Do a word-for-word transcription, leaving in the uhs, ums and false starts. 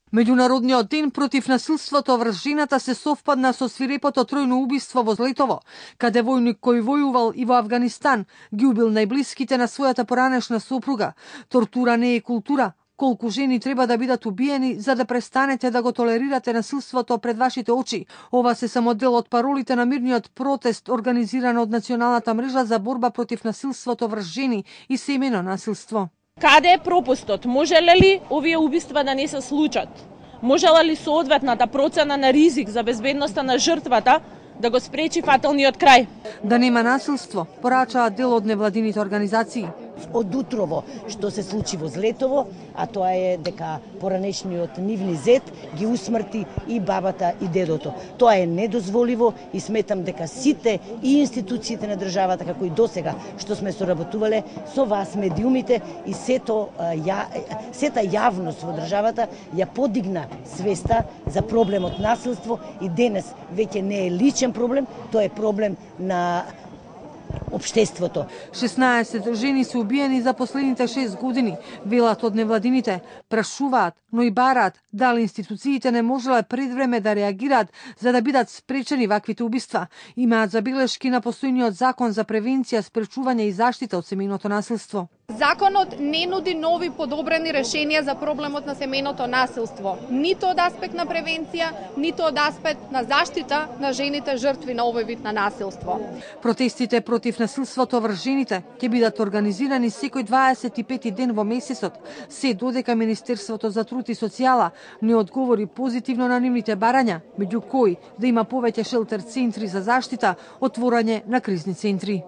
Меѓународниот ден против насилството врз жената се совпадна со свирепото тројно убиство во Злетово, каде војник кој војувал и во Авганистан ги убил најблиските на својата поранешна сопруга. Тортура не е култура. Колку жени треба да бидат убиени за да престанете да го толерирате насилството пред вашите очи? Ова се само дел од паролите на мирниот протест организиран од Националната мрежа за борба против насилството врз жени и семејно насилство. Каде е пропустот? Можеле ли овие убиства да не се случат? Можела ли соодветната процена на ризик за безбедноста на жртвата да го спречи фаталниот крај? Да нема насилство, порачаат дел од невладините организации. Од утрово што се случи во Злетово, а тоа е дека поранешниот нивни зет ги усмрти и бабата и дедото. Тоа е недозволиво и сметам дека сите и институциите на државата, како и досега што сме соработувале со вас медиумите и сето ја, сета јавност во државата ја подигна свеста за проблемот насилство и денес веќе не е личен проблем, тоа е проблем на општеството. шеснаесет жени се убиени за последните шест години, велат од невладините, прашуваат, но и бараат дали институциите не можеле пред време да реагираат за да бидат спречени ваквите убиства. Имаат забелешки на постојниот закон за превенција, спречување и заштита од семејното насилство. Законот не нуди нови подобрени решенија за проблемот на семејното насилство, ниту од аспект на превенција, ниту од аспект на заштита на жените жртви на овој вид на насилство. Протестите против насилството врз жените ќе бидат организирани секој дваесет и пети ден во месецот, се додека Министерството за труд и социјала не одговори позитивно на нивните барања, меѓу кои да има повеќе шелтер центри за заштита, отворање на кризни центри.